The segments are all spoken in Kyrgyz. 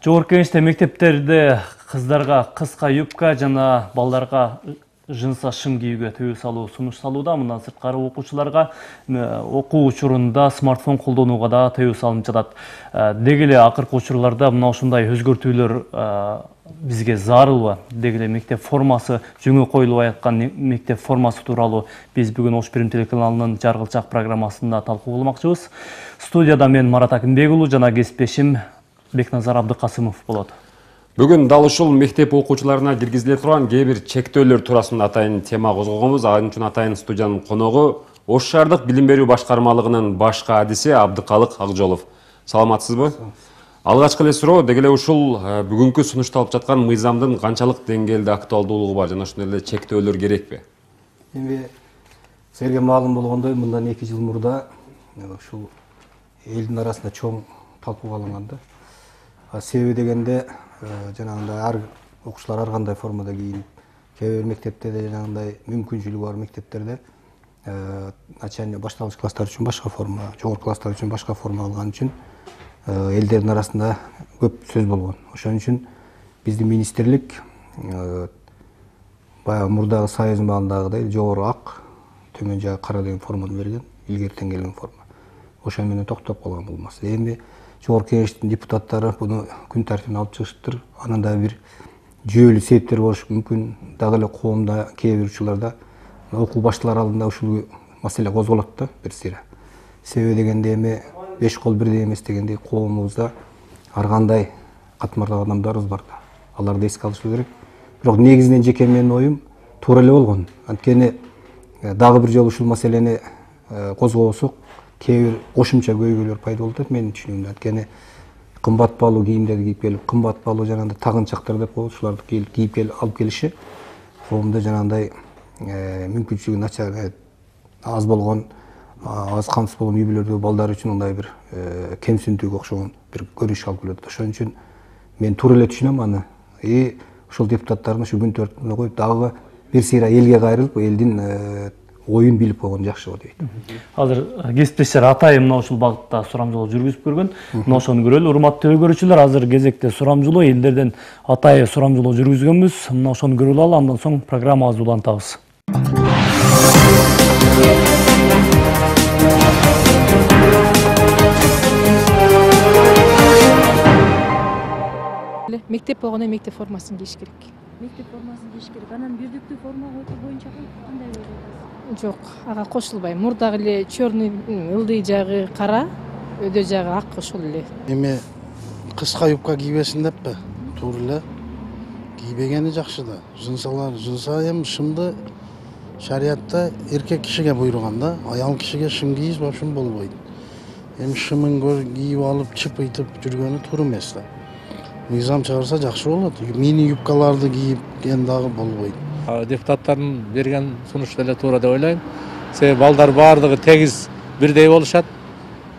Жогорку кеңеште мектептерде кыздарга кыска юбка жана балдарга жынса шым кийүүгө тыюу салуу сунуш салууда. Мындан сырткары окуучуларга окуу учурунда смартфон колдонууга да тыюу салынып жатат. Деги эле акыркы учурларда мына ушундай өзгөртүүлөр бизге зарылбы? Деги эле мектеп формасы жөнгө коюлбай аткан мектеп формасы тууралуу биз бүгүн Ош Бирим телеканалынын Жаргылчак программасында талкуу кылмакчыбыз. Студияда мен Марат Акынбек уулу жана кесиптешим Бекназар Абдыкасымов болот. Бүгүн дал ушул мектеп окуучуларына киргизиле турган кээ бир чектөөлөр туурасында атайын тема козгогонбуз. Ал үчүн атайын студиянын коногу Ош шаардык билим берүү башкармалыгынын башкы адиси Абдыкалык Акжолов. Саламатсызбы? Алгачкы эле суроо, деги эле ушул бүгүнкү сунушталып жаткан мыйзамдын канчалык деңгээлде актуалдуулугу бар жана ошондой эле чектөөлөр керекпи? Эми силерге маалым болгондой, мындан 2 жыл мурда ушул элдин арасында чоң талкууга алынган. Себеби дегенде жанагындай ар окуучулар ар кандай формада кийинип, кээ бир мектептерде жанагындай мүмкүнчүлүгү бар мектептерде начальный башталгыч класстар үчүн башка форма, жогорку класстар үчүн башка форма алган үчүн элдердин арасында көп сөз болгон. Ошон үчүн биздин министрлик баягы мурдагы союздун маалындагыдай жогору ак, төмөн жагы кара деген форманы берген, илгертен келген форма. Ошон менен токтоп калган бул маселе. Эми жогорку кеңештин депутаттары буну күн тартибине алып чыгышыптыр. Анан да бир жүйөлүү себептер болушу мүмкүн. Дагы эле коомдо кээ бир учурларда окуу башталар алдында ушул маселе козголот да бир сыйра. Себеби дегенде эми 5 кол бирдей эмес дегендей коомубузда ар кандай катмарлуу адамдарыбыз бар да. Аларды эске алыш керек. Бирок негизинен жеке менин оюм туура эле болгон. Анткени дагы бир жолу ушул маселени козгобосок кээ бир кошумча көйгөйлөр пайда болуп атат менин түшүнүгүмдө. Анткени кымбат баалуу кийимдерди кийип келип, кымбат баалуу жанагындай тагынчактар деп коет, ушуларды кийип келип алып келиши коомдо жанагындай мүмкүнчүлүгү начар аз болгон, аз камсыз болгон үй бүлөлөрдөгү балдар үчүн мындай бир кемсиндүүгө окшогон бир көрүнүш алып келет. Ошон үчүн мен туура эле түшүнөм аны. Ушул депутаттардын ушу күн тартибине коюп дагы бир сыйра элге кайрылып, элдин оюн билип койгон жакшы го дейт. Азыр кесиптештер атайын мына ушул багытта сурамжылоо жүргүзүп көргөн. Мына ошону көрөлү. Урматтуу көрүүчүлөр, азыр кезекте сурамжылоо, элдерден атайын сурамжылоо жүргүзгөнбүз. Мына ошону көрүп алалы, андан соң программабызды улантабыз. Мектеп болгондо мектеп формасын кийиш керек. Мектеп формасын кийиш керек. Анан бирдиктүү форма боюнча кандай ойлойсуз? Жок, ага кошулбайм. Мурдагы эле чёрный ылдый жагы кара, өдө жагы ак ошол эле. Эми кыска юбка кийбесин деппи? Туура эле кийбегени жакшы да. Жынса эми шымды шариятта эркек кишиге буйруган да, аял кишиге шым кийиш вообще болбойт. Эми шымын кийип алып чыпыйтып жүргөнү туура эмес да. Мыйзам чыгарса жакшы болот. Мини юбкаларды кийип дагы болбойт. Депутаттардын берген сунуш деле туура деп ойлойм. Себеби балдар баардыгы тегиз бирдей болушат.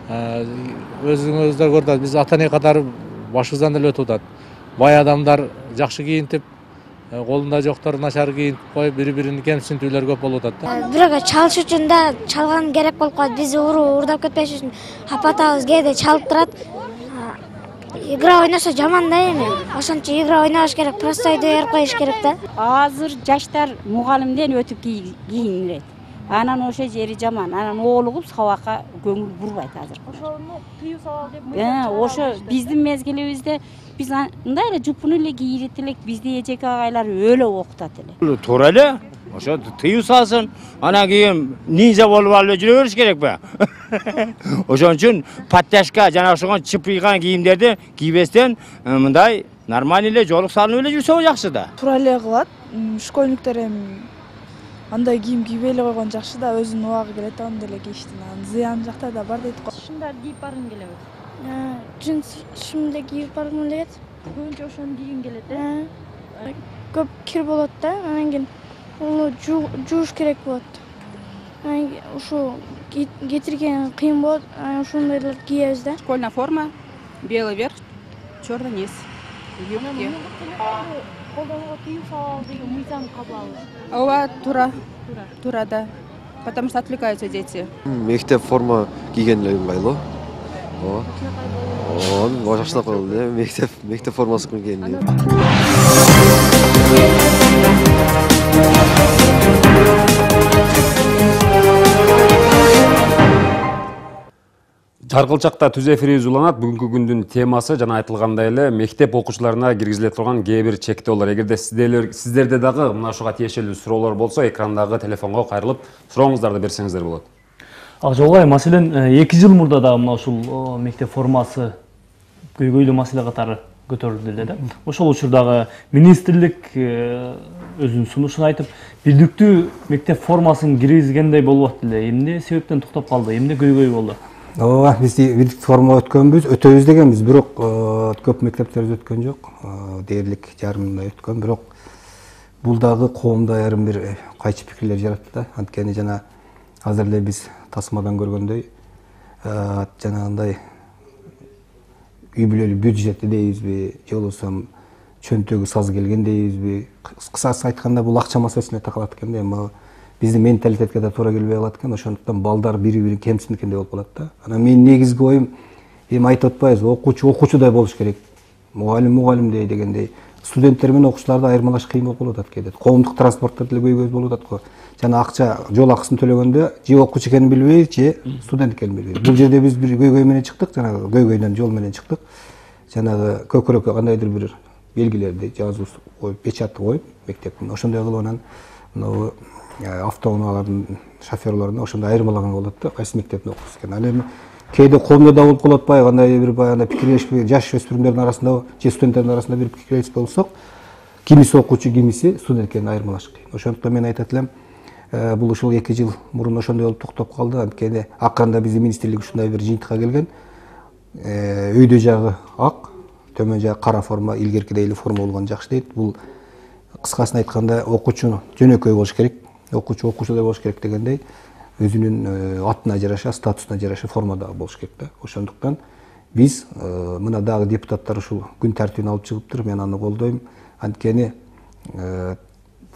Өзүңүздөр көрдүңүз, биз ата-эне катары башыбыздан эле өтүп атат. Бай адамдар жакшы кийинтип, колунда жоктор начар кийинтип коюп, бири-бирин кемсинтүүлөр көп болуп атат. Бирөөгө чалыш үчүн да чалган керек болуп калат. Биз уурдап кетпеш үчүн апатабыз кээде чалып турат. Игра ойношо жаман да эми. Ошончо игра ойнобош керек, простойду берип коюш керек да. Азыр жаштар мугалимден өтүп кийинет. Анан ошо жери жаман. Анан оолугуп сабакка көңүл бурбайт азыр. Ошону тыюу салалы деп ошо биздин мезгилибизде биз мындай эле жупуну эле кийет элек, бизди эжеке агайлар өлө окутат эле. Туура эле. Ошо тыюу салсын, анан кийин нинжа болуп алып жүрө бериш керекпи? Ошон үчүн подтяжка жана ошого чыпыйган кийимдерди кийбестен мындай нормаль эле жолук салынып эле жүрсө жакшы да. Туура эле кылат. Школьниктер эми андай кийим кийбей эле койгон жакшы да, өзүнүн убагы келет, аны деле кийиштин. Анан зыян жактары да бар дейт го. Шымдар кийип баргың келеби? Джинс шымды кийип баргым келет. Көбүнчө ошону кийгиң келет, Көп кир болот да, анан кийин уну жууш керек болот. Ушу кетирген кыйын болот. Ошондойлорду кийебиз да. Школьная форма, белый верх, черный низ. Юбки. Колдонууга тыюу салуу деген мыйзам кабыл. Ооба, тура, да. Потому что отвлекаются дети. Мектеп форма кийген эле ыңгайлуу. Ооба. Ооба, жакшылап калды эле. Мектеп формасы кийген эле. Жаргылчакта түз эфирибиз уланат. Бүгүнкү күндүн темасы жана айтылгандай эле мектеп окуучуларына киргизиле турган кээ бир чектөөлөр. Эгерде сиздерде дагы мына ушуга тиешелүү суроолор болсо, экрандагы телефонго кайрылып сурооңуздарды берсеңиздер болот. Акжолгай, маселен 2 жыл мурда да мына ушул мектеп формасы көйгөйлүү маселе катары көтөрүлдү эле да. Ошол учурдагы министрлик өзүнүн сунушун айтып, бирдиктүү мектеп формасын киргизгендей болуп атты эле. Эмне себептен токтоп калды? Эмне көйгөй болду? Ооба, биз бирдиктүү форма өтөбүз дегенбиз, бирок көп мектептерибиз өткөн жок. Дээрлик жарымдай өткөн, бирок бул дагы коомдо айрым бир кайчы пикирлер жаратты да. Анткени жана азыр эле биз тасмадан көргөндөй, жанагындай үй бүлөлүк бюджети дейбизби, же болбосо чөнтөгү саз келген дейбизби. Кысасы айтканда бул акча маселесине такалат экен да. Эми биздин менталитетке да туура келбей калат экен. Ошондуктан балдар бири-бирин кемсинткендей болуп калат да. Анан менин негизги оюм, эми айтып атпайбыз, окуучудай болуш керек. Мугалимдей дегендей. Студенттер менен окуучуларды айырмалаш кыйын болуп калып атат кээде. Коомдук транспортто деле көйгөй болуп атат го. Жана акча, жол акысын төлөгөндө же окуучу экенин билбей, же студент экенин билбей. Бул жерде биз бир көйгөй менен чыктык, жанагы көйгөйдөн жол менен чыктык. Жанагы көкүрөккө кандайдыр бир белгилерди жазып коюп, печатты коюп мектептин. Ошондой кылып анан мына автоунаалардын шоферлорун ошондой айырмалаганга болот да, кайсы мектепте окуйсуз экен. Ал эми кээде коомдо да болуп калып атпайбы, кандай бир баягы пикирлешпей, жаш өспүрүмдөрдүн арасында, же студенттердин арасында бир пикирлешип болсок, кимиси окуучу, кимиси студент экенин айырмалаш кыйын. Ошондуктан мен айтат элем, бул ушул 2 жыл мурун ошондой болуп токтоп калды. Анткени акырында биздин министрлик ушундай бир жыйынтыкка келген. Өйдө жагы ак, төмөн жагы кара форма, илгеркидей эле форма болгон жакшы дейт. Бул кыскасын айтканда окуучу жөнөкөй болуш керек, окуучудай болуш керек дегендей, өзүнүн атына жараша, статусуна жараша формада болуш керек да. Ошондуктан биз мына дагы депутаттар ушул күн тартибине алып чыгыптыр, мен аны колдойм. Анткени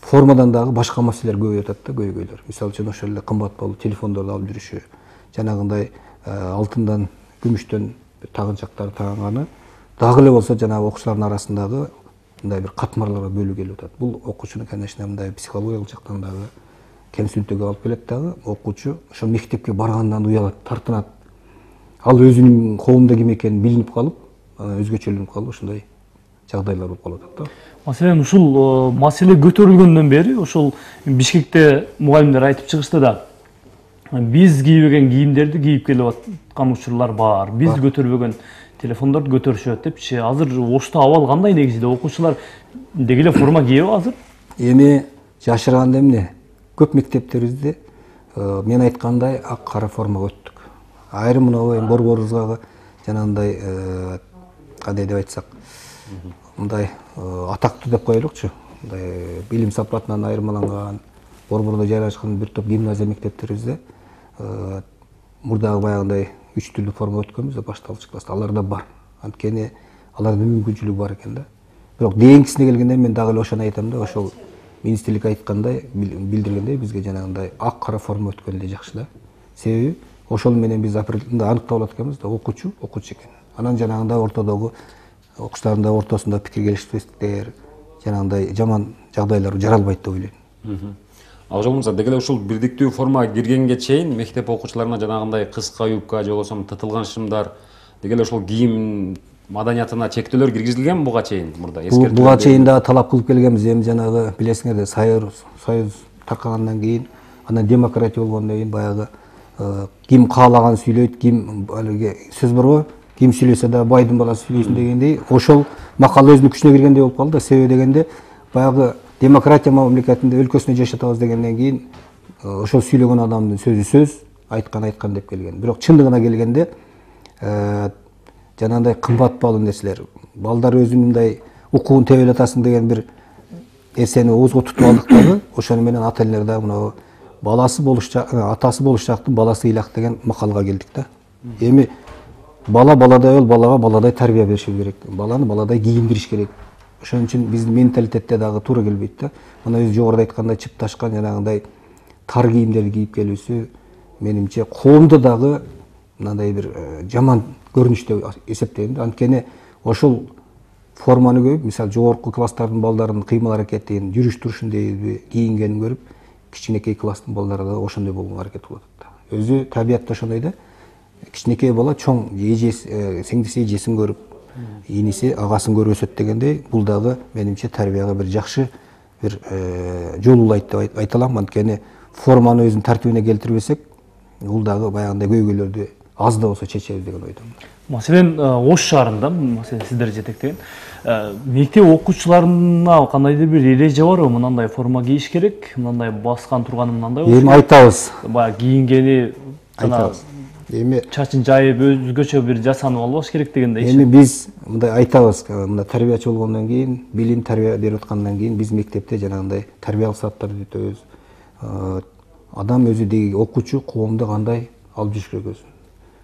формадан дагы башка маселелер көбөйүп атат да, көйгөйлөр. Мисалы үчүн ошол эле кымбат болуп телефондорду алып жүрүшү, жанагындай алтындан, күмүштөн тагынчактар тагынганы дагы эле болсо жанагы окуучулардын арасындагы мындай бир катмарларга бөлүү келип атат. Бул окуучуну, конечно, мындай психологиялык жактан дагы кемсинтүүгө алып келет дагы. Окуучу ошол мектепке баргандан уялат, тартынат. Ал өзүнүн коомдо ким экенин билинип калып, өзгөчөлөнүп калып, ошондой жагдайлар болуп калып атат да. Маселен, ушул маселе көтөрүлгөндөн бери ошол Бишкекте мугалимдер айтып чыгышты да. Биз кийбеген кийимдерди кийип келип аткан учурлар бар. Биз көтөрбөгөн телефондорду көтөрүшөт депчи. Азыр Ошто абал кандай негизинде? Окуучулар деги эле форма кийеби азыр? Эми жашырганда эмне? Көп мектептерибизде мен айткандай ак кара формага өттүк. Айрым мына борборубузга жанагындай кандай деп айтсак, мындай атактуу деп коелукчу. Мындай билим сапатынан айырмаланган, борбордо жайгашкан бир топ гимназия мектептерибизде мурдагы баягындай 3 түрлүү форма өткөнбүз да башталгыч класста. Аларда бар. Анткени алардын мүмкүнчүлүгү бар экен да. Бирок кийинкисине келгенде мен дагы эле ошону айтам да, ошол министрлик айткандай, билдиргендей бизге жанагындай ак кара форма өткөн эле жакшы да. Себеби ошол менен биз апрелде аныктап алат экенбиз да, окуучу экен. Анан жанагындай ортодогу окуучулардын ортосунда пикир келишпестиктер, жанагындай жаман жагдайлар жаралбайт деп ойлойм. Акжол мырза, деги эле ушул бирдиктүү форма киргенге чейин мектеп окуучуларына жанагындай кыска юбка же болбосо тытылган шымдар, деги эле ушул кийим маданиятына чектөөлөр киргизилгенби буга чейин мурда? Буга чейин дагы талап кылып келгенбиз. Эми жанагы билесиңерде Союз таркагандан кийин, анан демократия болгондон кийин баягы ким каалаган сүйлөйт, ким алиги сөз барбы? Ким сүйлөсө да байдын баласы сүйлөсүн дегендей, ошол макал өзүнүн күчүнө киргендей болуп калды да. Себеби дегенде баягы демократия мамлекетинде өлкөсүндө жашатабыз дегенден кийин ошол сүйлөгөн адамдын сөзү сөз, айткан деп келген. Бирок чындыгына келгенде жанагындай кымбат баалуу нерселер, балдар өзүнүн мындай укугун тебелеп атасың деген бир нерсени оозго тутуп алдык дагы, ошону менен ата энелер дагы мына баласы атасы болуш жактын баласы ыйлак деген макалга келдик да. Эми бала баладай бол, балага баладай тарбия бериш керек. Баланы баладай кийиндириш керек. Ошон үчүн биздин менталитетте дагы туура келбейт да. Мына өзү жогоруда айткандай чыпташкан жанагындай тар кийимдерди кийип келүүсү менимче коомдо дагы мындай бир жаман көрүнүш деп эсептейм да. Анткени ошол форманы көрүп, мисалы жогорку класстардын балдарынын кыймыл аракетин, жүрүш турушун дейби, кийингенин көрүп, кичинекей класстын балдары да ошондой болгонго аракет кылып атат да. Өзү табиятта ошондой да. Кичинекей бала чоң сиңдиси эжесин көрүп, иниси агасын көрүп өсөт дегендей, бул дагы менимче тарбияга бир жакшы бир жол улайт деп айта алам. Анткени форманы өзүнүн тартибине келтирбесек, бул дагы баягындай көйгөйлөрдү аз да болсо чечебиз деген ойдомун. Маселен, Ош шаарында, маселен, сиздер жетектеген мектеп окуучуларына кандайдыр бир эреже барбы? Мындай форма кийиш керек, мындай баскан турганы мындай болуш керек. Эми айтабыз. Баягы кийингени айтабыз. Эми чачын жайып өзгөчө бир жасанып албаш керек дегендей. Эми биз мындай айтабыз, мына тарбиячы болгондон кийин, билим тарбия берип аткандан кийин биз мектепте жанагындай тарбиялык сааттарды өтөбүз. Адам өзү деги окуучу коомдо кандай алып жүрүш керек өзүн.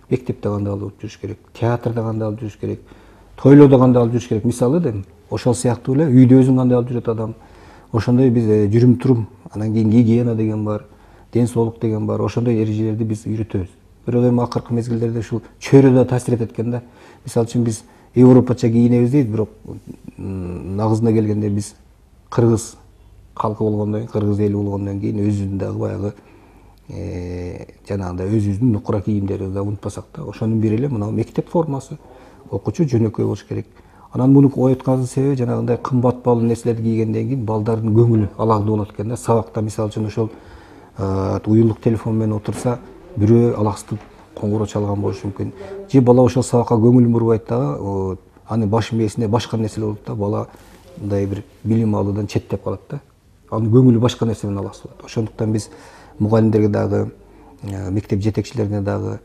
Мектепте кандай алып жүрүш керек, театрда кандай алып жүрүш керек, тойлоодо кандай алып жүрүш керек. Мисалы да ошол сыяктуу эле үйдө өзүн кандай алып жүрөт адам. Ошондой биз жүрүм турум, анан кийин гигиена деген бар, ден соолук деген бар. Ошондой эрежелерди биз үйрөтөбүз. Бирок эми акыркы мезгилдерде ушул чөйрө да таасир этет экен да. Мисалы үчүн биз европача кийинебиз дейт, бирок нагызына келгенде биз кыргыз калкы болгондон кийин, кыргыз эли болгондон кийин өзүбүздүн дагы баягы жанагындай өзүбүздүн нукура кийимдерибизди да унутпасак да. Ошонун бири эле мына мектеп формасы. Окуучу жөнөкөй болуш керек. Анан муну ойткандын себеби жанагындай кымбат баалуу нерселерди кийгенден кийин балдардын көңүлү алагда болот экен да. Сабакта мисалы үчүн ошол уюлдук телефон менен отурса, бирөө алаксытып коңгуроо чалган болушу мүмкүн. Же бала ошол сабакка көңүлүн бурбайт дагы, аны баш мээсине башка нерселер болот да. Бала мындай бир билим алуудан четтеп калат да. Анын көңүлү башка нерсе менен алаксыз болот. Ошондуктан биз мугалимдерге дагы, мектеп жетекчилерине дагы,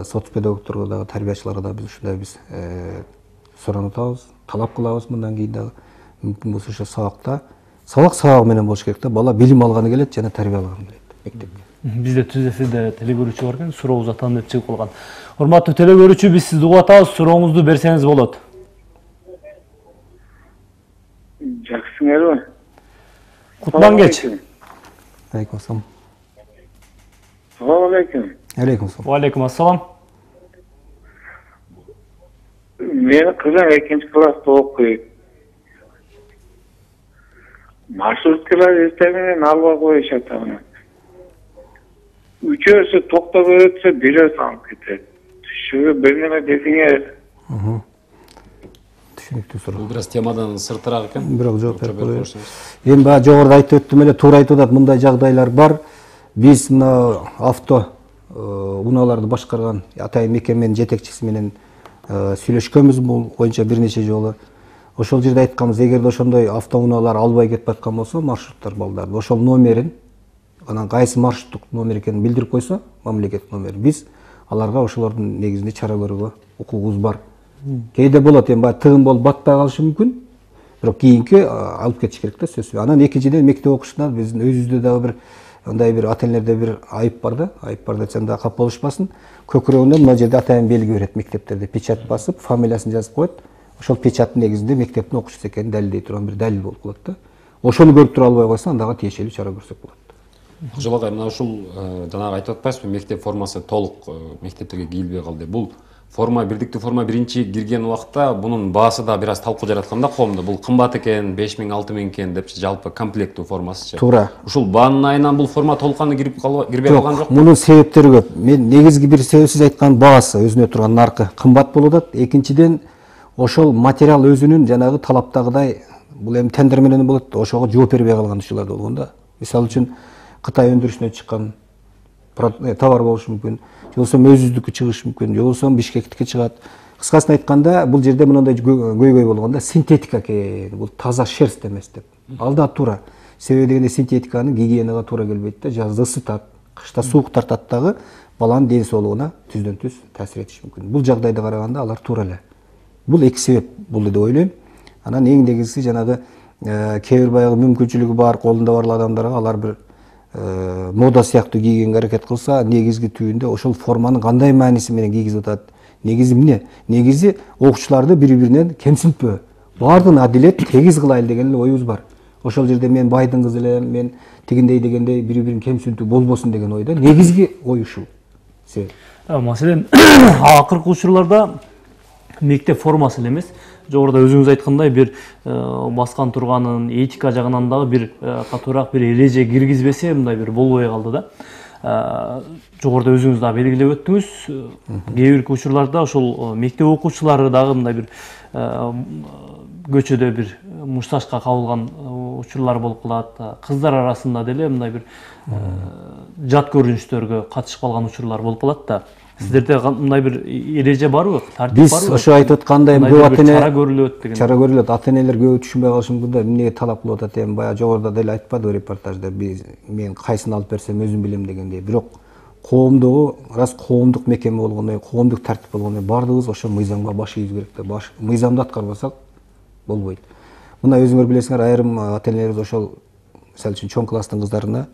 соцпедагогторго дагы, тарбиячыларга дагы биз ушундай биз суранып атабыз, талап кылабыз мындан кийин дагы. Мүмкүн болсо ошо сабак менен болуш керек да. Бала билим алганы келет жана тарбияланганы келет мектепке. Бизде түзөсүдө телегөрүүчү бар экен, сурооңузду атам деп чыгып калган. Урматтуу телегөрүүчү, биз сизди угуп атабыз, сурооңузду берсеңиз болот. Жакшысыңарбы? Кутман кеч. Алейкум ассалам. Салам алейкум. Алейкум ассалам. Алейкум ассалам. Менин кызым 2-класста окуйт. Маршруткалар эртең менен албай коюшат аны. Үчөөсү токтоп өтсө, бирөөсү алып кетет. Ушуга бир неме десеңер. Түшүнүктүү суроо. Бул бир аз темадан сыртыраак экен. Бирок жооп берип коеюн. Эми баягы жогоруда айтып өттүм эле, туура айтып атат, мындай жагдайлар бар. Биз мына авто унааларды башкарган атайын мекеменин жетекчиси менен сүйлөшкөнбүз бул боюнча бир нече жолу. Ошол жерде айтканбыз, эгерде ошондой автоунаалар албай кетип аткан болсо, маршруттар балдарды, ошол номерин, анан кайсы маршруттук номер экенин билдирип койсо, мамлекеттик номер, биз аларга ошолордун негизинде чара көрүүгө укугубуз бар. Кээде болот, эми баягы тыгын болуп батпай калышы мүмкүн, бирок кийинки алып кетиш керек да сөзсүз. Анан экинчиден мектеп окуучусунан биздин өзүбүздө дагы бир андай бир ата-энелерде бир айып бар да, айып бар десем да кап болушпасын. Көкүрөгүнөн мына жерде атайын белги берет мектептерде, печать басып, фамилиясын жазып коет. Ошол печаттын негизинде мектептин окуучусу экенин далилдей турган бир далил болуп калат да. Ошону көрүп тура албай койсо, андага тиешелүү чара көрсөк болот. Акжол агай, мына ушул жанагы айтып атпайсызбы, мектеп формасы толук мектептерге кийилбей калды. Бул форма, бирдиктүү форма биринчи кирген убакта бунун баасы да бир аз талкуу жараткан да коомдо. Бул кымбат экен, 5000, 6000 экен депчи, жалпы комплекттүү формасычы. Туура. Ушул баанын айынан бул форма толукканы кирбей калган жок. Мунун себептери көп. Мен негизги бир себеп сиз айткан баасы, өзүнө турган наркы кымбат болуп атат. Экинчиден ошол материал өзүнүн жанагы талаптагыдай, бул эми тендер менен болот, ошого жооп бербей калган учурлар да болгон да. Мисалы үчүн Кытай өндүрүшүнөн чыккан товар болушу мүмкүн, же болбосо өзүбүздүкү чыгышы мүмкүн, же болбосо Бишкектики чыгат. Кыскасын айтканда, бул жерде мындай көйгөй болгон да, синтетика экен, бул таза шерсть эмес деп. Ал да туура. Себеби дегенде синтетиканын гигиенага туура келбейт да, жазда ысытат, кышта суук тартат дагы, баланын ден соолугуна түздөн түз таасир этиши мүмкүн. Бул жагдайда караганда алар туура эле. Бул эки себеп болду деп ойлойм. Анан эң негизгиси жанагы кээ бир баягы мүмкүнчүлүгү бар, колунда бар адамдарга алар бир мода сыяктуу кийгенге аракет кылса, негизги түбүндө ошол форманын кандай мааниси менен кийгизип атат? Негизи эмне? Негизи окуучуларды бири-биринен кемсинтпөө. Баардыгын адилет, тегиз кылайлы деген эле оюбуз бар. Ошол жерде мен байдын кызы элем, мен тигиндей дегендей бири-бирин кемсинтүү болбосун деген ойдо. Негизги ой ушул. Маселен, акыркы учурларда мектеп формасы эле эмес, жогоруда өзүңүз айткандай бир баскан турганын этика жагынан дагы бир катуураак бир эреже киргизбесе мындай бир болбой калды да. Жогоруда өзүңүз дагы белгилеп өттүңүз, кээ бир учурларда ошол мектеп окуучулары дагы мындай бир көчөдө бир мушташка кабылган учурлар болуп калат. Кыздар арасында деле мындай бир жат көрүнүштөргө катышып калган учурлар болуп калат да. Сиздерде мындай бир эреже барбы? Тартип барбы? Биз ошо айтып аткандай көп ата-эне чара көрүлөт деген. Чара көрүлөт. Ата-энелер көп түшүнбөй калышы мүмкүн да. Эмнеге талап кылып атат эми баягы жогоруда деле айтпадыбы репортажда. Мен кайсын алып берсем өзүм билем дегендей. Бирок коомдогу раз коомдук мекеме болгондон, коомдук тартип болгондон баардыгыбыз ошо мыйзамга баш ийиз керек да. Мыйзамды аткарбасак болбойт. Мына өзүңөр билесиңер, айрым ата-энелерибиз ошол мисалы үчүн чоң класстын кыздарына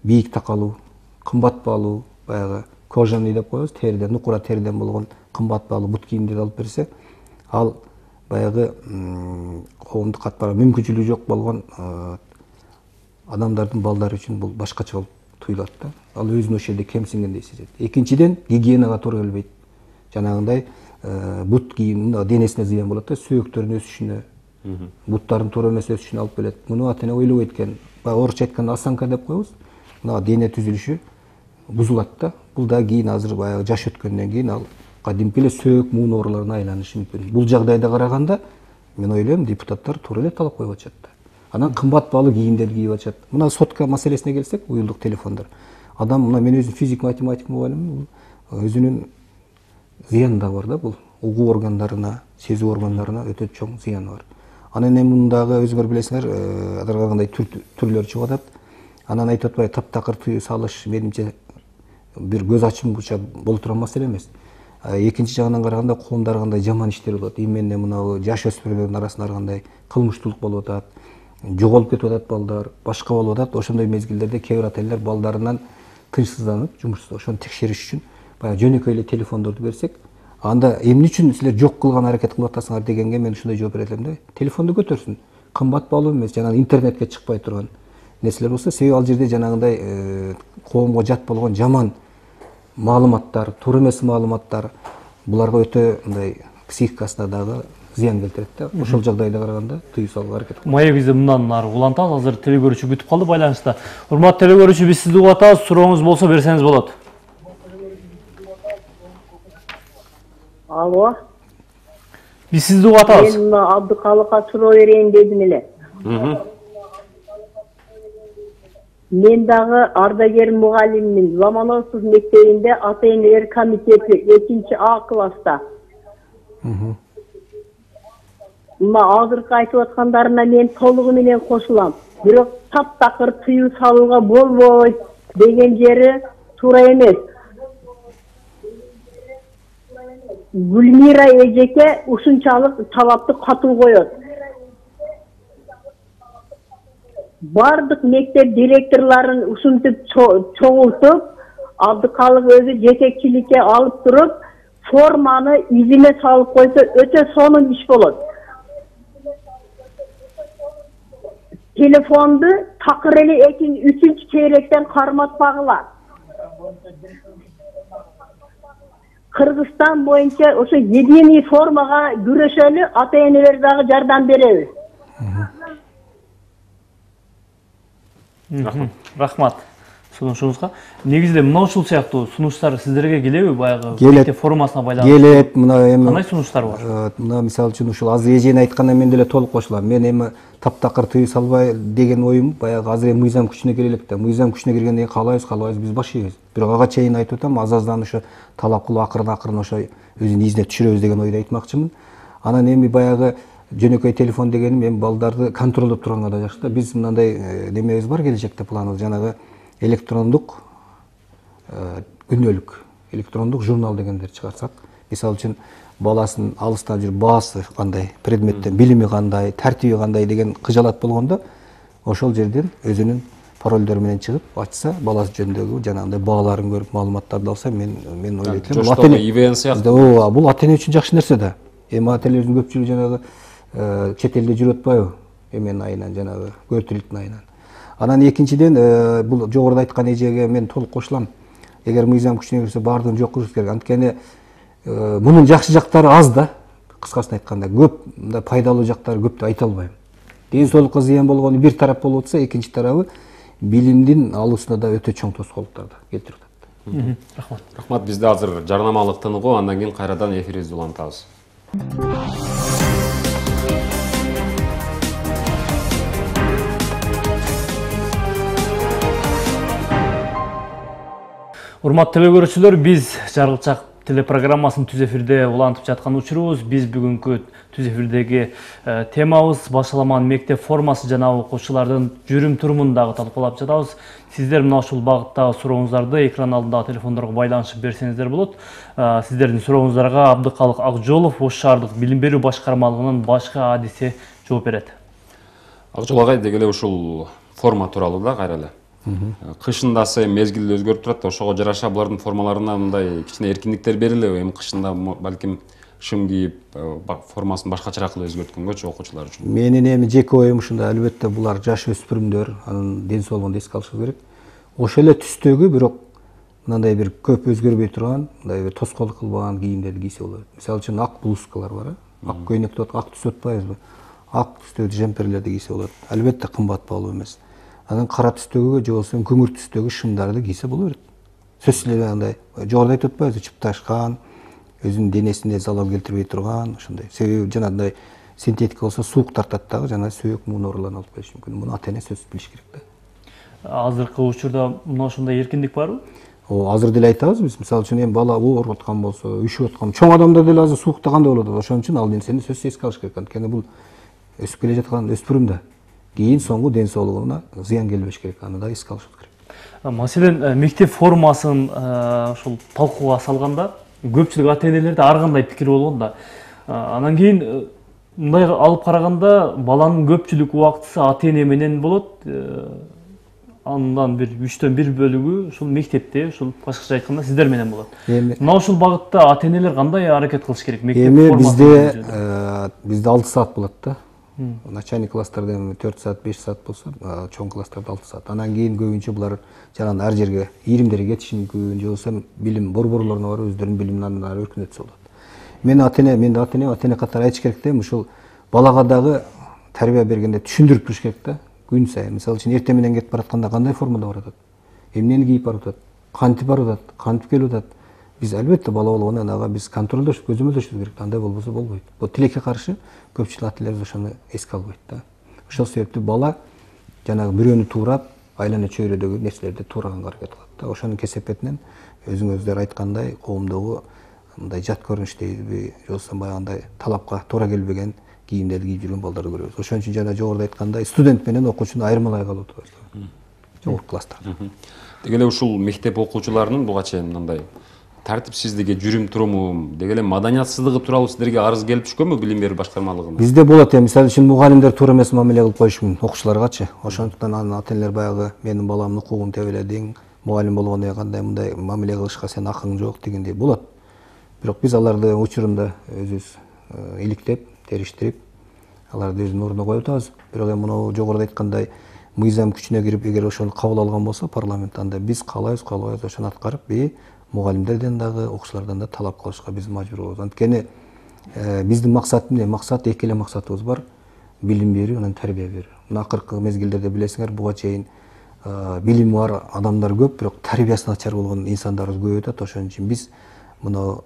бийик такалуу, кымбат баалуу, баягы кожаный деп коебуз, териден, нукура териден болгон кымбат баалуу бут кийимди алып берсе, ал баягы коомдук катмара мүмкүнчүлүгү жок болгон адамдардын балдары үчүн бул башкача болуп туюлат да. Ал өзүн ошол жерде кемсингендей сезет. Экинчиден, гигиенага туура келбейт. Жанагындай бут кийим денесине зыян болот да, сөөктөрүнүн өсүшүнө, буттардын туура эмес өсүшүнө алып келет. Муну ата-эне ойлобойт экен. Орусча айтканда осанка деп коебуз. Мына дене түзүлүшү бузулат да. Бул да кийин азыр баягы жаш өткөндөн кийин ал кадимки эле сөөк муун ооруларына айланышы мүмкүн. Бул жагдайда караганда мен ойлойм депутаттар туура эле талап коюп атышат да. Анан кымбат баалуу кийимдерди кийип атышат. Мына сотка маселесине келсек, уюлдук телефондар. Адам мына мен өзүм физик математик мугалиммин, өзүнүн зыяны да бар да, бул угуу органдарына, сезүү органдарына өтө чоң зыяны бар. Анан эми мундагы өзүңөр билесиңер, аларга кандай түрлөр чыгып атат. Анан айтып атпайбы, таптакыр тыюу салыш менимче бир көз ачымгыча боло турган маселе эмес. Экинчи жагынан караганда коомдо кандай жаман иштер болот. Именно мына жаш өспүрүмдөрдүн арасында кандай кылмыштуулук болуп атат, жоголуп кетип атат балдар, башка болуп атат. Ошондой мезгилдерде кээ бир ата-энелер балдарынан тынчсызданып, жумушсуз ошону текшериш үчүн баягы жөнөкөй эле телефондорду берсек, анда эмне үчүн силер жок кылган аракет кылып атасыңар дегенге мен ушундай жооп берет элем да. Телефонду көтөрсүн. Кымбат баалуу эмес, жана интернетке чыкпай турган нерселер болсо, себеби ал жерде жанагындай коомго жат болгон жаман маалыматтар, туура эмес маалыматтар буларга өтө мындай психикасына дагы зыян келтирет да. Ошол жагдайда караганда тыюу салууга аракет кылат. Маегибизди мындан ары улантабыз. Азыр телекөрүүчү күтүп калды байланышта. Урматтуу телекөрүүчү, биз сизди угуп атабыз. Сурооңуз болсо берсеңиз болот. Алло. Биз сизди угуп атабыз. Мен Абдыкалыкка суроо берейин дедим эле. Мен дагы ардагер мугалиммин. Ломоносов мектебинде ата-энелер комитети 2А класста. Азыркы айтып аткандарына мен толугу менен кошулам. Бирок таптакыр тыюу салууга болбойт деген жери туура эмес. Гүлмира эжеке ушунчалык талапты катуу коет. Бардык мектеп директорлорун ушинтип чоңултуп, Абдыкалык өзү жетекчиликке алып туруп, форманы изине салып койсо өтө сонун иш болот. Телефонду такыр эле 2-3 чейректен карматпагыла. Кыргызстан боюнча ошо единый формага күрөшөлү, ата-энелер дагы жардам беребиз. Рахмат сунушуңузга. Негизде мына ушул сыяктуу сунуштар сиздерге келеби? Баягы мектеп формасына байланыштуу. Келет, мына эми кандай сунуштар бар? Мына мисалы үчүн ушул азыр эжени айтканда мен деле толук кошулам. Мен эми таптакыр тыюу салбай деген оюм баягы азыр эми мыйзам күчүнө кире элек да. Мыйзам күчүнө киргенден кийин каалайбыз биз баш ийбиз. Бирок ага чейин айтып атам, азаздан ошо талап кылып акырын ошо өзүнүн изине түшүрөбүз деген ойду айтмакчымын. Анан эми баягы жөнөкөй телефон дегеним эми балдарды контролдоп турганга да жакшы да. Биз мындай немебиз бар келечекте планыбыз, жанагы электрондук күнөөлүк, электрондук журнал дегендер чыгарсак, мисалы үчүн баласын алыстан жүрүп баасы кандай, предметтен билими кандай, тартиби кандай деген кыжалат болгондо ошол жерден өзүнүн паролдор менен чыгып ачса, баласы жөнүндөгү жанагындай бааларын көрүп, маалыматтарды алса, мен ойлойт элем. Жоштогу ИВН сыяктуу. Бул ата эне үчүн жакшы нерсе да. Эми ата энелердин көпчүлүгү жанагы чет элде жүрүп атпайбы? Эмен айынан жанагы көтүлүктүн айынан. Анан экинчиден бул жогоруда айткан эжеге мен толук кошулам. Эгер мыйзам күчүнө кирсе баардыгын жок кылыш керек. Анткени мунун жакшы жактары аз да. Кыскасын айтканда көп мындай пайдалуу жактары көп деп айта албайм. Ден соолукка зыян болгону бир тарап болуп атса, экинчи тарабы билимдин алуусуна да өтө чоң тоскоолдуктарды келтирип атат. Рахмат. Рахмат, бизде азыр жарнамалык тыныгуу, андан кийин кайрадан эфирибизди улантабыз. Урматтуу телекөрүүчүлөр, биз Жаргылчак телепрограммасын түз эфирде улантып жаткан учурубуз. Биз бүгүнкү түз эфирдеги темабыз башаламан мектеп формасы жана окуучулардын жүрүм турумун дагы талкуулап жатабыз. Сиздер мына ушул багыттагы сурооңуздарды экран алдындагы телефондорго байланышып берсеңиздер болот. Сиздердин сурооңуздарга Абдыкалык Акжолов Ош шаардык билим берүү башкармалыгынын башкы адиси жооп берет. Акжол агай, деги эле ушул форма тууралуу да кайра эле. Кышында мезгил өзгөрүп турат, ошого жараша булардын формаларына мындай кичине эркиндиктер берилеби? Эми кышында балким шым кийип, формасын башкачараак кылып өзгөрткөнгөчү окуучулар үчүн. Менин эми жеке оюм ушундай, албетте булар жаш өспүрүмдөр, анын ден соолугун эске алышыбыз керек. Ошол эле түстөгү, бирок мындай бир көп өзгөрбөй турган, мындай бир тоскоолдук кылбаган кийимдерди кийсе болот. Мисалы үчүн ак блузкалар бар, ак көйнөк деп ак түс атпайбызбы? Ак түстөгү жемперлерди кийсе болот. Албетте кымбат баалуу эмес. Анан кара түстөгү же болбосо көмүр түстөгү шымдарды кийсе боло берет. Сөзсүз эле андай жогоруда айтып атпайбызбы, чыпташкан, өзүнүн денесине залал келтирбей турган, ошондой. Себеби жанагындай синтетика болсо суук тартат дагы, жана сөөк муун ооруларын алып келиши мүмкүн. Муну ата эне сөзсүз билиш керек да. Азыркы учурда мына ошондой эркиндик барбы? Азыр деле айтабыз биз. Мисалы үчүн эми бала ооруп аткан болсо, үшүп аткан, чоң адамдар деле азыр суукта кандай болот? Ошон үчүн ал нерсени сөзсүз эске алыш керек. Анткени бул өсүп келе жаткан өспүрүм да. Кийин соңку ден соолугуна зыян келбеш керек, аны да эске алышыбыз керек. Маселен, мектеп формасын ушул талкууга салганда көпчүлүк ата энелерде ар кандай пикир болгон да. Анан кийин мындай алып караганда баланын көпчүлүк убактысы ата эне менен болот. Андан бир 3төн 1 бөлүгү ушул мектепте, ушул башкача айтканда сиздер менен болот. Мына ушул багытта ата энелер кандай аракет кылыш керек? Мектеп формасы бизде 6 саат болот да. Начальник класстарда 4 саат, 5 саат болсо, чоң класстарда 6 саат. Анан кийин көбүнчө булар жанагы ар жерге ийримдерге кетиши мүмкүн, же болбосо билим борборлоруна барып өздөрүнүн билимин ары өркүнөтсө болот. Мен ата эне катары айтыш керек да, ушул балага дагы тарбия бергенде түшүндүрүп туруш керек да. Күн сайын, мисалы үчүн эртең менен кетип баратканда кандай формада баратат? Эмнени кийип барып атат? Кантип барып атат? Кантип келип атат? Биз албетте бала болгондон ага биз контролдош, көзөмөлдөшүбүз керек. Андай болбосо болбойт. Бул тилекке каршы көпчүлүк ата энелер ошону эске албайт да. Ошол себептүү бала жанагы бирөөнү туурап, айлана чөйрөдөгү нерселерди туураганга аракет кылат да. Ошонун кесепетинен өзүңүздөр айткандай коомдогу мындай жат көрүнүштеги, же болбосо баягындай талапка туура келбеген кийимдерди кийип жүргөн балдарды көрөбүз. Ошон үчүн жана жогоруда айткандай студент менен окуучуну айырмалай калып атабыз. Жогорку класстарда. Деги эле ушул мектеп окуучуларынын буга чейин мындай тартипсиздиги, жүрүм туруму, деги эле маданиятсыздыгы тууралуу сиздерге арыз келип түшкөнбү билим берүү башкармалыгына? Бизде болот, мисалы үчүн мугалимдер туура эмес мамиле кылып коюшу мүмкүн окуучуларгачы. Ошондуктан анын ата энелер баягы менин баламдын укугун тебеледиң, мугалим болгондон кийин кандай мындай мамиле кылышка сенин акың жок дегендей болот. Бирок биз аларды учурунда өзүбүз иликтеп, териштирип, аларды өзүнүн ордуна коюп атабыз. Бирок эми мына жогоруда айткандай мыйзам күчүнө кирип, эгер ошону кабыл алган болсо парламент, анда биз каалайбыз ошону аткарып, мугалимдерден дагы, окуучулардан да талап кылышка биз мажбур болобуз. Анткени биздин максат эмне? Максат эки эле максатыбыз бар: билим берүү, анан тарбия берүү. Мына акыркы мезгилдерде билесиңер, буга чейин билими бар адамдар көп, бирок тарбиясы начар болгон инсандарыбыз көп өтөт. Ошон үчүн биз мына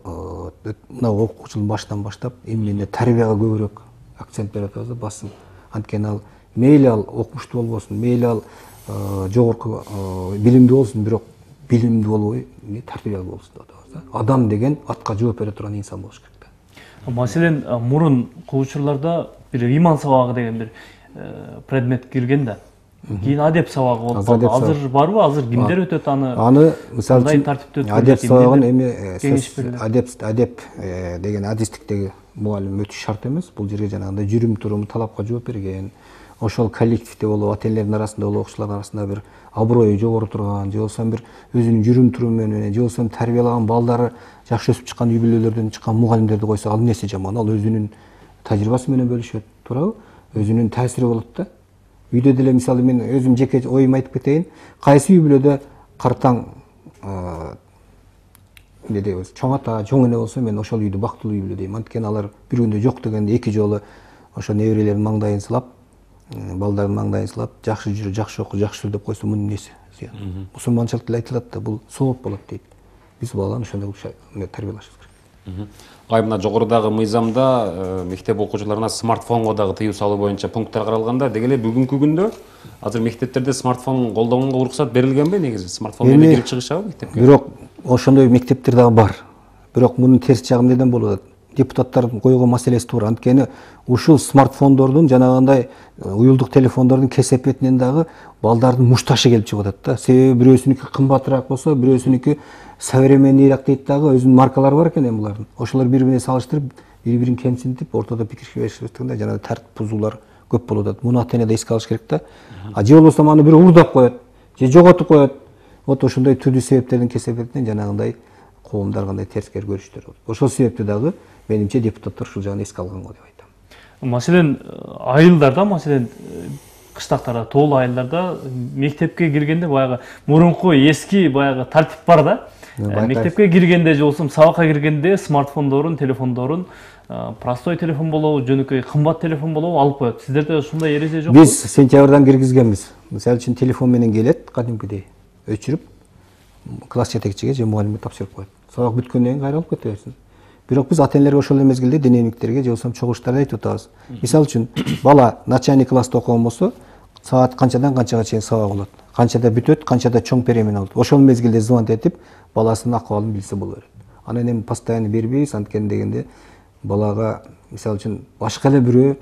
окуучунун башынан баштап эмне тарбияга көбүрөөк акцент берип атабыз да, басым. Анткени ал мейли ал окумуштуу болбосун, мейли ал жогорку билимдүү болсун, бирок билимдүү болбой, тарбиялуу болсун деп атабыз да. Адам деген атка жооп бере турган инсан болуш керек да. Маселен, мурун учурларда бир иман сабагы деген бир предмет кирген да. Кийин адеп сабагы болуп калды. Азыр барбы? Азыр кимдер өтөт аны? Аны мисалы үчүн адеп сабагын эми адеп деген адистиктеги мугалим өтүш шарт эмес. Бул жерге жанагындай жүрүм турум, талапка жооп берген, ошол коллективде болобу, ата энелердин арасында болобу, окуучулардын арасында бир аброю жогору турган, же болбосо бир өзүнүн жүрүм туруму менен, же болбосо тарбиялаган балдары жакшы өсүп чыккан үй бүлөлөрдөн чыккан мугалимдерди койсо, ал эмнеси жаман? Ал өзүнүн тажрыйбасы менен бөлүшөт, туурабы? Өзүнүн таасири болот да. Үйдө деле мисалы мен өзүм жеке оюмду айтып кетейин. Кайсы үй бүлөдө картаң эмне дейбиз, чоң ата, чоң эне болсо, мен ошол үйдү бактылуу үй бүлө дейм. Анткени алар бир күндө жок дегенде эки жолу ошо неберелердин маңдайын сылап, балдардын маңдайын сылап, жакшы жүрү, жакшы окуу, жакшы жүр деп койсо, мунун эмнеси зыян? Мусулманчылыкта эле айтылат да, бул сооп болот дейт. Биз баланы ошондой тарбиялашыбыз керек. Мына жогорудагы мыйзамда мектеп окуучуларына смартфонго дагы тыюу салуу боюнча пункттар каралганда, деги эле бүгүнкү күндө азыр мектептерде смартфон колдонгонго уруксат берилгенби негизи? Смартфон менен кирип чыгышабы мектепке? Бирок ошондой мектептер дагы бар. Бирок мунун терс жагы эмнеден болуп атат? Депутаттардын койгон маселеси туура. Анткени ушул смартфондордун, жанагындай уюлдук телефондордун кесепетинен дагы балдардын мушташы келип чыгып атат да. Себеби бирөөсүнүкү кымбатыраак болсо, бирөөсүнүкү современныйраак дейт дагы, өзүнүн маркалары бар экен булардын. Ошолор бири-бирине салыштырып, бири-бирин кемсинтип, ортодо пикиришпестигинде жанагы тартип бузуулар көп болуп атат. Муну ата эне да эске алыш керек да. Же болбосо аны бирөө уурдап коет, же жоготуп коет. Вот ошондой түрдүү себептердин кесепетинен жанагындай коомдор кандай терскер көрүштөр болот. Ошол себептен дагы менимче депутаттар ушул жагын эске алганго деп айтам. Маселен, айылдарда, маселен, кыштактарда, тоолуу айылдарда мектепке киргенде баягы мурунку эски баягы тартип бар да. Мектепке киргенде же болсо сабакка киргенде смартфондорун, телефондорун, простой телефон болобу, жөнөкөй кымбат телефон болобу алып коет. Сиздерде ушундай эреже жокпу? Биз сентябрдан киргизгенбиз. Мисалы үчүн телефон менен келет, кадимкидей өчүрүп, класс жетекчиге же мугалимге тапшырып коет. Сабак бүткөндөн кийин кайра алып кете берсин. Бирок биз ата энелерге ошол эле мезгилде денемиктерге же болбосо чогулуштарда айтып атабыз. Мисалы үчүн бала начальник класста окуган болсо, саат канчадан канчага чейин сабак болот, канчада бүтөт, канчада чоң перемена болот. Ошол мезгилде звонок этип, баласынын акыбалын билсе боло берет. Анан эми постоянно бербейбиз, анткени дегенде балага мисалы үчүн башка эле бирөө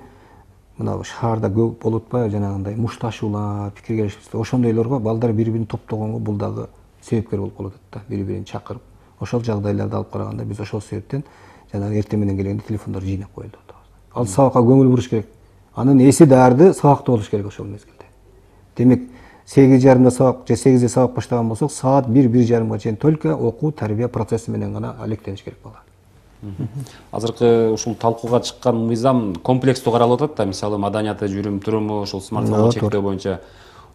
мына шаарда көп болуп атпайбы, жанагындай мушташуулар, пикир келишпестик, ошондойлорго балдар бири-бирин топтогонго бул дагы себепкер болуп калат да, бири-бирин чакырып. Ошол жагдайларды алып караганда биз ошол себептен жанагы эртең менен келгенде телефондорду жыйнап коелу деп атабыз. Ал сабакка көңүл буруш керек. Анын эси дарды сабакта болуш керек ошол мезгилде. Демек 8:30 сабак же 8-де сабак баштаган болсок, саат 1-1:30 чейин только окуу, тарбия процесси менен гана алектениш керек бала. Азыркы ушул талкууга чыккан мыйзам комплекстүү каралып атат да, мисалы маданияты, жүрүм туруму, ушул смартфонго чектөө боюнча.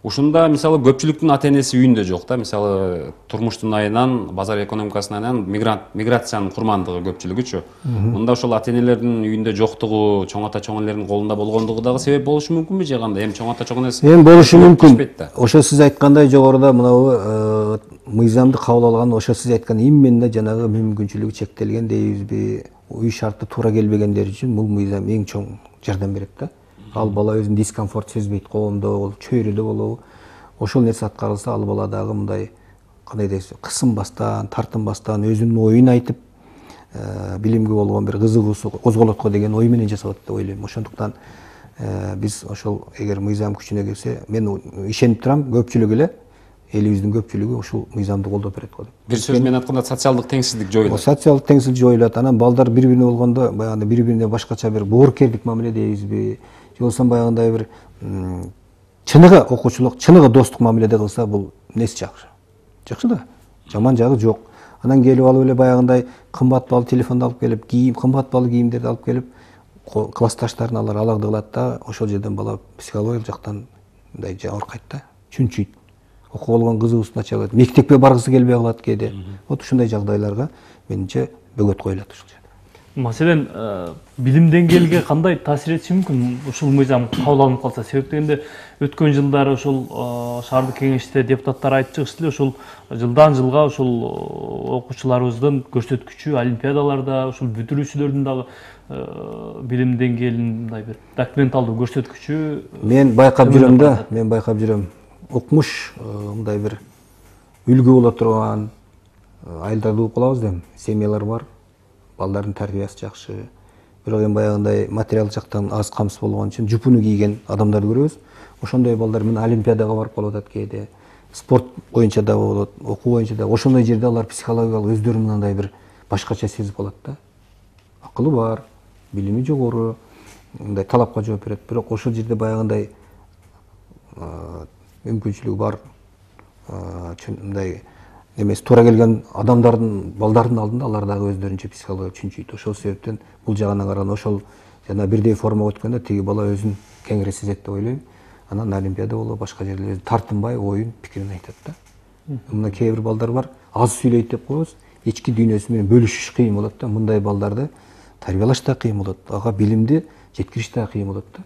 Ушунда мисалы көпчүлүктүн ата энеси үйүндө жок да, мисалы турмуштун айынан, базар экономикасынын айынан миграциянын курмандыгы көпчүлүгүчү. Мында ошол ата энелердин үйүндө жоктугу, чоң ата чоң энелердин колунда болгондугу дагы себеп болушу мүмкүнбү же кандай? Эми чоң ата чоң энеси эми болушу мүмкүн. Ошо сиз айткандай жогоруда мынабу мыйзамды кабыл алган, ошо сиз айткан именно жанагы мүмкүнчүлүгү чектелген дейбизби, үй шарты туура келбегендер үчүн бул мыйзам эң чоң жардам берет да. Ал бала өзүн дискомфорт сезбейт, коомдо болобу, чөйрөдө болобу. Ошол нерсе аткарылса, ал бала дагы мындай кандай дейсиз, кысынбастан, тартынбастан өзүнүн оюн айтып, билимге болгон бир кызыгуусу козголот го деген ой менен жасап атат деп ойлойм. Ошондуктан биз ошол эгер мыйзам күчүнө кирсе, мен ишенип турам, көпчүлүк эле элибиздин көпчүлүгү ушул мыйзамды колдоп берет го деп. Бир сөз менен айтканда социалдык теңсиздик жоюлат. Социалдык теңсиздик жоюлат. Анан балдар бири-бирине болгондо баягы бири-бирине башкача бир боорукердик мамиле дейбизби, же болсо баягындай бир чыныгы окуучулук, чыныгы достук мамиледе кылса, бул несі жакшы. Жакшы да. Жаман жагы жок. Анан келип алып эле баягындай кымбат баалуу телефонду алып келип, кийим, кымбат баалуу кийимдерди алып келип, классташтарын алар алагды кылат да, ошол жерден бала психологиялык жактан мындай жабыркайт да, чүнчүйт. Окуу болгон кызыгуусун ача алат. Мектепке баргысы келбей калат кээде. Вот ушундай жагдайларга менимче бөгөт коюлат ушул жерде. Маселен, билим деңгээлиге кандай таасир этиши мүмкүн ушул мыйзам кабыл алынып калса? Себеп дегенде өткөн жылдары ушул шаардык кеңеште депутаттар айтып чыгышты эле, ушул жылдан жылга ушул окуучуларыбыздын көрсөткүчү олимпиадаларда, ушул бүтүрүүчүлөрдүн дагы билим деңгээлинин мындай бир документалдуу көрсөткүчү мен байкап жүрөм да, укмуш мындай бир үлгү боло турган айылдарды угуп калабыз да, семьялар бар. Балдардын тарбиясы жакшы. Бирок эми баягындай материалдык жактан аз камсыз болгон үчүн жупуну кийген адамдарды көрөбүз. Ошондой балдар мен олимпиадага барып калып атат кээде. Спорт боюнча да болот, окуу боюнча да. Ошондой жерде алар психологиялык өздөрүн мындай бир башкача сезип калат да. Акылы бар, билими жогору, мындай талапка жооп берет. Бирок ошол жерде баягындай мүмкүнчүлүгү бар мындай эмес туура келген адамдардын балдардын алдында алар дагы өздөрүнчө психология чүнчүйт. Ошол себептен бул жагынан караганда ошол жана бирдей формага өткөндө тиги бала өзүн кеңири сезет деп ойлойм. Анан олимпиада болобу башка жерлерде тартынбай оюн пикирин айтат да. Мына кээ бир балдар бар, аз сүйлөйт деп коебуз, ички дүйнөсү менен бөлүшүш кыйын болот да. Мындай балдарды тарбиялаш да кыйын болот, ага билимди жеткириш да кыйын болот да.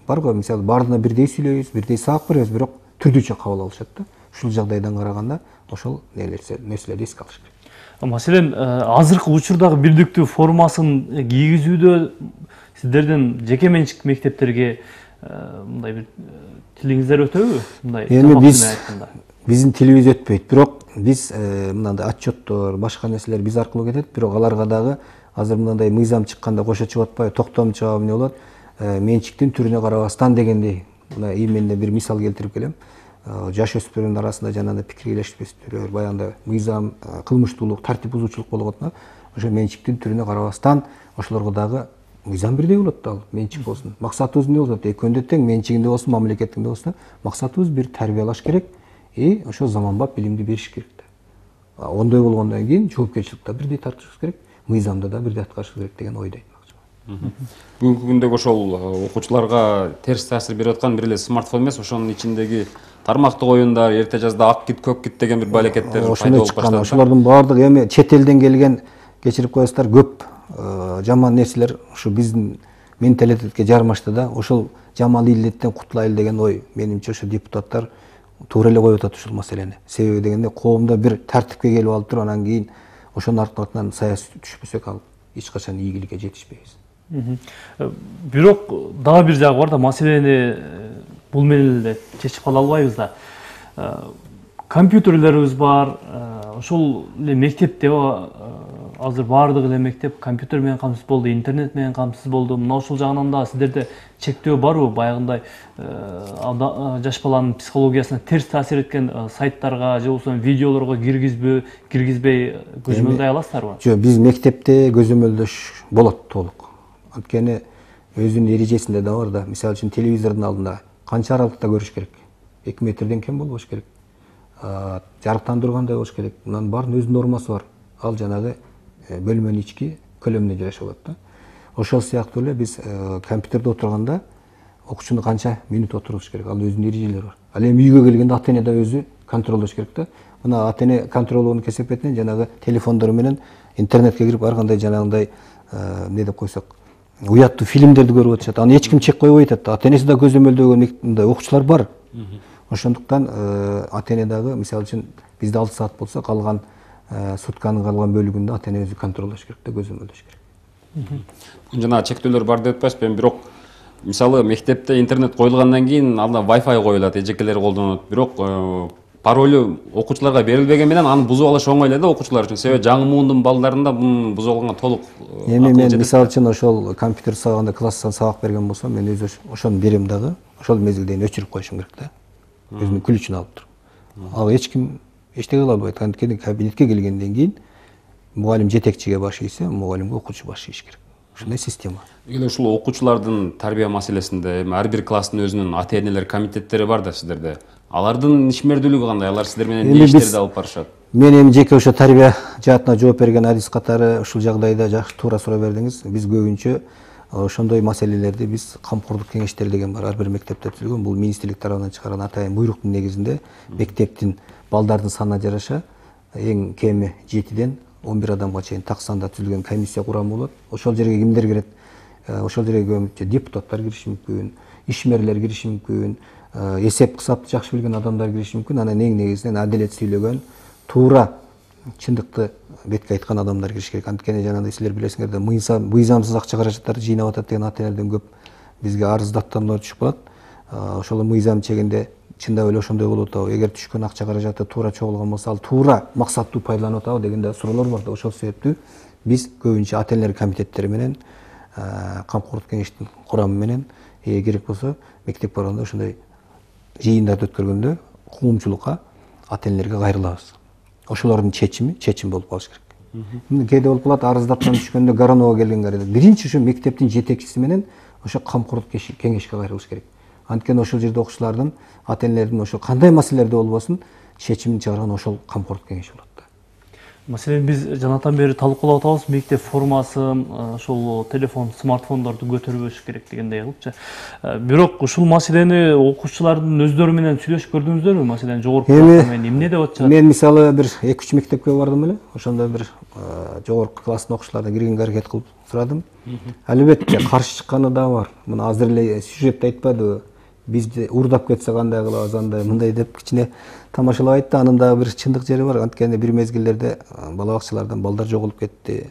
Бар го, мисалы баардыгына бирдей сүйлөйбүз, бирдей сабак беребиз, бирок түрдүүчө кабыл алышат да. Ушул жагдайдан караганда ошол нерселерди эске алыш керек. Маселен, азыркы учурдагы бирдиктүү формасын кийгизүүдө сиздердин жеке менчик мектептерге мындай бир тилиңиздер өтөбү? Мындай биздин тилибиз өтпөйт, бирок биз мындай отчеттор, башка нерселер биз аркылуу кетет, бирок аларга дагы азыр мындай мыйзам чыкканда кошо чыгып атпайбы, токтом чыгабы эмне болот? Менчиктин түрүнө карабастан дегендей. Мына именно бир мисал келтирип келем. Жаш өспүрүмдөр арасында жанагындай пикир келишпестиктер, баягындай мыйзам, кылмыштуулук, тартип бузуучулук болгон да. Ошо менчиктин түрүнө карабастан ошолорго дагы мыйзам бирдей болот да, менчик болсун. Максатыбыз эмне болот? Экөөндө тең менчигинде болсун, мамлекеттинде болсун. Максатыбыз бир тарбиялаш керек, ошо заманбап билимди бериш керек да. Ондой болгондон кийин жоопкерчиликти бирдей тартышыбыз керек, мыйзамды да бирдей аткарышыбыз керек деген ойдойм. Бүгүнкү күндө ошол окуучуларга терс таасир берип аткан бир эле смартфон эмес, ошонун ичиндеги тармактык оюндар, эрте жазда ак кит, көк кит деген бир балекеттер пайда болуп баштады. Ошолордун баардыгы эми чет элден келген, кечирип коесуздар, көп жаман нерселер ушу биздин менталитетке жармашты да. Ошол жаман илдеттен кутулайлы деген ой менимче ошо депутаттар туура эле коюп атат ушул маселени. Себеби дегенде коомдо бир тартипке келип алып туруп, анан кийин ошонун артынан саясий түшпөсөк ал эч качан ийгиликке жетишпейбиз. Бирок дагы бир жагы бар да, маселени бул менен эле чечип кала албайбыз да. Компьютерлерибиз бар, ошол эле мектепте азыр баардык эле мектеп компьютер менен камсыз болду, интернет менен камсыз болду. Мына ошол жагынан да сиздерде чектөө барбы? Баягындай жаш баланын психологиясына терс таасир эткен сайттарга же болбосо видеолорго киргизбей көзөмөлдөй аласыздарбы? Жок, биз мектепте көзөмөлдөш болот толук. Анткени өзүнүн эрежесинде да бар да. Мисалы үчүн телевизордун алдында канча аралыкта көрүш керек? 2 метрден кем болбош керек. Жарыктандыргандай болуш керек. Мунун баарынын өз нормасы бар. Ал жанагы бөлмөнүн ички көлөмүнө жараша болот да. Ошол сыяктуу эле биз компьютерде отурганда окуучуну канча минут отуруш керек? Ал өзүнүн эрежелери бар. Ал эми үйгө келгенде ата-эне да өзү контролдош керек да. Мына ата-эне контролдоонун кесепетинен жанагы телефондор менен интернетке кирип ар кандай жанагындай эмне деп койсок уяттуу фильмдерди көрүп атышат. Аны эч ким чек койбой атат. Ата-энеси да көзөмөлдөгөн мындай окуучулар бар. Ошондуктан ата-эне дагы мисалы үчүн бизде 6 саат болсо, калган сутканын калган бөлүгүндө ата-эне өзү контролдош керек да, көзөмөлдөш керек. Жана чектөөлөр бар деп атпайсызбы, бирок мисалы мектепте интернет коюлгандан кийин анда Wi-Fi коюлат, эжекелер колдонот. Бирок паролу окуучуларга берилбеген менен аны бузуп алыш оңой эле да окуучулар үчүн. Себеби жаңы муунтун балдарында бунун бузулганга толук. Эми мен мисалы үчүн ошол компьютер сабагында класстан сабак берген болсом, мен өзү ошону берем дагы, ошол мезгилде өчүрүп коюшум керек да. Өзүнүн күлүчүн алып туруп. Ал эч ким эчтеке кыла албайт. Анткени кабинетке келгенден кийин мугалим жетекчиге баш ийсе, мугалимге окуучу баш ийиш керек. Ушундай система. Эле ушул окуучулардын тарбия маселесинде эми ар бир класстын өзүнүн ата-энелер комитеттери бар да сиздерде. Алардын ишмердүүлүгү кандай? Алар сиздер менен эмне иштерди алып барышат? Мен эми жеке ошо тарбия жаатына жооп берген адис катары ушул жагдайда жакшы туура суроо бердиңиз. Биз көбүнчө ошондой маселелерди биз камкордук кеңештери деген бар. Ар бир мектепте түзүлгөн. Бул министрлик тарабынан чыгарган атайын буйруктун негизинде мектептин балдардын санына жараша эң кеми 7ден 11 адамга чейин так санда түзүлгөн комиссия курамы болот. Ошол жерге кимдер кирет? Ошол жерге көбүнчө депутаттар кириши мүмкүн, ишмерлер кириши мүмкүн, эсеп кысапты жакшы билген адамдар кириши мүмкүн. Анан эң негизинен адилет сүйлөгөн, туура чындыкты бетке айткан адамдар кириш керек. Анткени жанагындай силер билесиңер да, мыйзамсыз акча каражаттарды жыйнап атат деген ата-энелерден көп бизге арыз даттануулар түшүп калат. Ошол мыйзам чегинде чындап эле ошондой болуп атабы? Эгер түшкөн акча каражаты туура чогулган болсо, ал туура максаттуу пайдаланып атабы дегенде суроолор бар да. Ошол себептүү биз көбүнчө ата-энелер комитеттери менен, камкордук кеңештин курамы менен керек болсо мектеп барганда ошондой жыйындарды өткөргөндө коомчулукка, ата-энелерге кайрылабыз. Ошолордун чечим болуп калыш керек. Кээде болуп калат, арыздаттан түшкөндө Горонова келген кайрылат. Биринчи ушу мектептин жетекчиси менен ошо камкордук кеңешке кайрылыш керек. Анткени ошол жерде окуучулардын, ата энелердин ошо кандай маселелерде болбосун чечимин чыгарган ошол камкорлук кеңеши болот. Маселен биз жанатан бери талкуулап атабыз, мектеп формасын, ошол телефон, смартфондорду көтөрбөш керек дегендей кылыпчы. Бирок ушул маселени окуучулардын өздөрү менен сүйлөшүп көрдүңүздөрбү? Маселен жогорку класста эмне деп атышат? Мен мисалы бир 2-3 мектепке бардым эле. Ошондо бир жогорку класстын окуучуларына киргенге аракет кылып сурадым. Албетте каршы чыкканы да бар. Мына азыр эле сюжетте айтпадыбы? Бизди уурдап кетсе кандай кылабыз, андай мындай деп кичине тамашалап айтты. Анын дагы бир чындык жери бар. Анткени бир мезгилдерде бала бакчалардан балдар жоголуп кетти.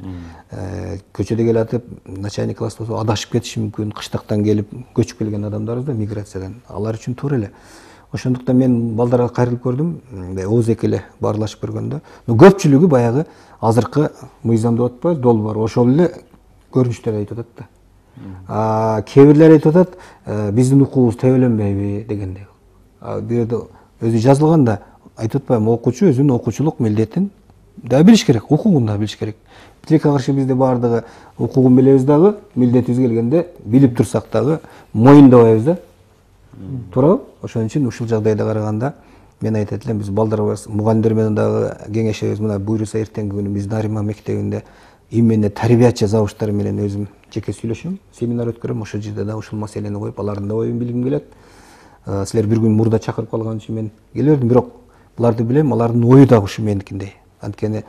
Көчөдө келатып, начальник класс болсо адашып кетиши мүмкүн. Кыштактан келип, көчүп келген адамдарбыз да, миграциядан. Алар үчүн туура эле. Ошондуктан мен балдарга кайрылып көрдүм, ооз эки эле баарлашып көргөндө. Көпчүлүгү баягы азыркы мыйзам деп атпайбыз, долбоор ошол эле көрүнүштөр айтып атат да. Кээ бирлер айтып атат, биздин укугубуз тебеленбейби дегендей. Бирде өзү жазылганда айтып атпаймынбы, окуучу өзүнүн окуучулук милдетин да билиш керек, укугун да билиш керек. Тилекке каршы бизде баардыгы укугун билебиз дагы, милдетибиз келгенде билип турсак дагы моюндабайбыз да. Туурабы? Ошон үчүн ушул жагдайда караганда мен айтат элем, биз балдарга мугалимдер менен дагы кеңешебиз. Мына буйруса эртеңки күнү биз Нариман мектебинде именно тарбиячы завучтар менен өзүм жеке сүйлөшөм, семинар өткөрөм. Ошол жерде да ушул маселени коюп, алардын да оюн билгим келет. Силер бир күн мурда чакырып калган үчүн мен келбедим, бирок буларды билем, алардын ою да ушу меникиндей. Анткени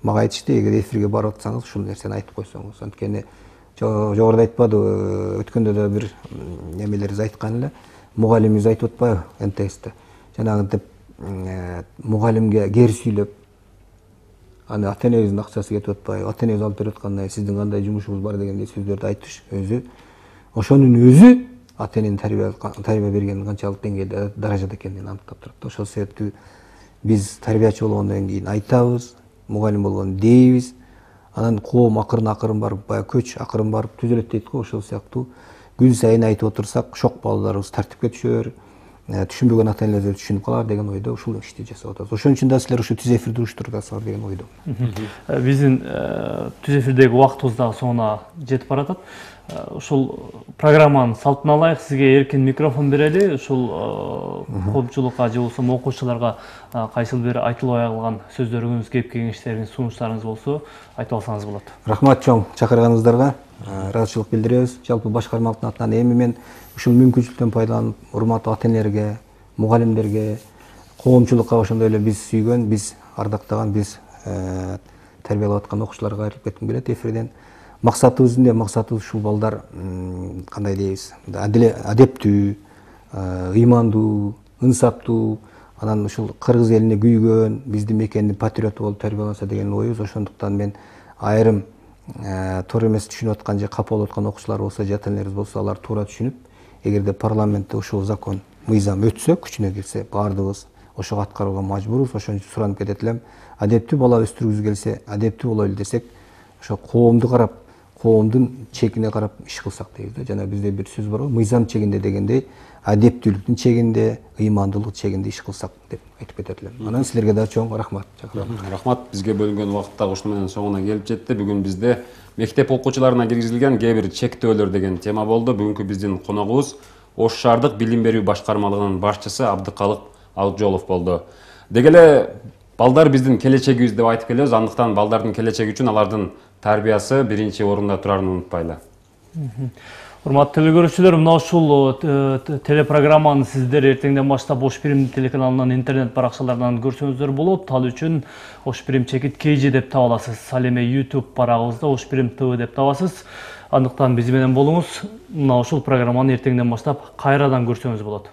мага айтышты, эгер эфирге барып атсаңыз, ушул нерсени айтып койсоңуз. Анткени жогоруда айтпадыбы, өткөндө да бир немелерибиз айткан эле, мугалимибиз айтып атпайбы НТСте. Жанагынтип мугалимге кер сүйлөп, аны ата энебиздин акчасы кетип атпайбы, ата энебиз алып берип аткандай, сиздин кандай жумушуңуз бар дегендей сөздөрдү айтыш өзү, ошонун өзү ата эненин тарбия бергенин канчалык деңгээлде, даражада экенин аныктап турат. Ошол себептүү биз тарбиячы болгондон кийин айтабыз, мугалим болгондон дейбиз, анан коом акырын барып, баягы көч акырын барып түзөлөт дейт го. Ошол сыяктуу күн сайын айтып отурсак, шок балдарыбыз тартипке түшөр, түшүнбөгөн ата энелер түшүнүп калар деген ойдо ушул ишти жасап атабыз. Ошон үчүн да силер ушу түз эфирди уруштурасыңар деген ойдо. Биздин түз эфирдеги убактыбыз дагы соңуна жетип баратат. Ушул программанын салтын алайык, сизге эркин микрофон берели. Ушул коомчулукка же болбосо окуучуларга кайсыл бир айтылбай калган сөздөрүңүз, кеп кеңештериңиз, сунуштарыңыз болсо айтып алсаңыз болот. Рахмат чоң чакырганыңыздарга. Ыраазычылык билдиребиз. Жалпы башкармалыктын атынан эми мен ушул мүмкүнчүлүктөн пайдаланып, урматтуу ата энелерге, мугалимдерге, коомчулукка ошондой эле биз сүйгөн, биз ардактаган, биз тарбиялап аткан окуучуларга кайрылып кетким келет эфирден. Максатыбыз эмне? Максатыбыз ушул балдар кандай дейбиз, адептүү, ыймандуу, ынсаптуу, анан ушул кыргыз элине күйгөн, биздин мекендин патриоту болуп тарбияланса деген оюбуз. Ошондуктан мен айрым туура эмес түшүнүп аткан же капа болуп аткан окуучулар болсо, ата энелерибиз болсо, алар туура түшүнүп, эгерде парламентте ушул закон, мыйзам өтсө, күчүнө кирсе, баардыгыбыз ошого аткарууга мажбурбуз. Ошон үчүн суранып кетет элем, адептүү бала өстүргүбүз келсе, адептүү бололу десек, ошо коомду карап, коомдун чегине карап иш кылсак дейбиз да. Жана бизде бир сөз бар го, мыйзам чегинде дегендей, адептүүлүктүн чегинде, ыймандуулук чегинде иш кылсак деп айтып кетет элем. Анан силерге да чоң рахмат. Рахмат, бизге бөлүнгөн убакыт дагы ушуну менен соңуна келип жетти. Бүгүн бизде мектеп окуучуларына киргизилген кээ бир чектөөлөр деген тема болду. Бүгүнкү биздин коногубуз Ош шаардык билим берүү башкармалыгынын башчысы Абдыкалык Акжолов болду. Деги эле балдар биздин келечегибиз деп айтып келебиз. Андыктан балдардын келечеги үчүн алардын тарбиясы биринчи орунда турарын унутпайлы. Урматтуу телекөрүүчүлөр, мына ушул телепрограмманы сиздер эртеңден баштап Ош Прим телеканалынын интернет баракчаларынан көрсөңүздөр болот. Ал үчүн Ош Прим чекит KG деп таба аласыз. Ал эми YouTube барагыбызда Ош Прим TV деп табасыз. Андыктан биз менен болуңуз. Мына ушул программаны эртеңден баштап кайрадан көрсөңүз болот.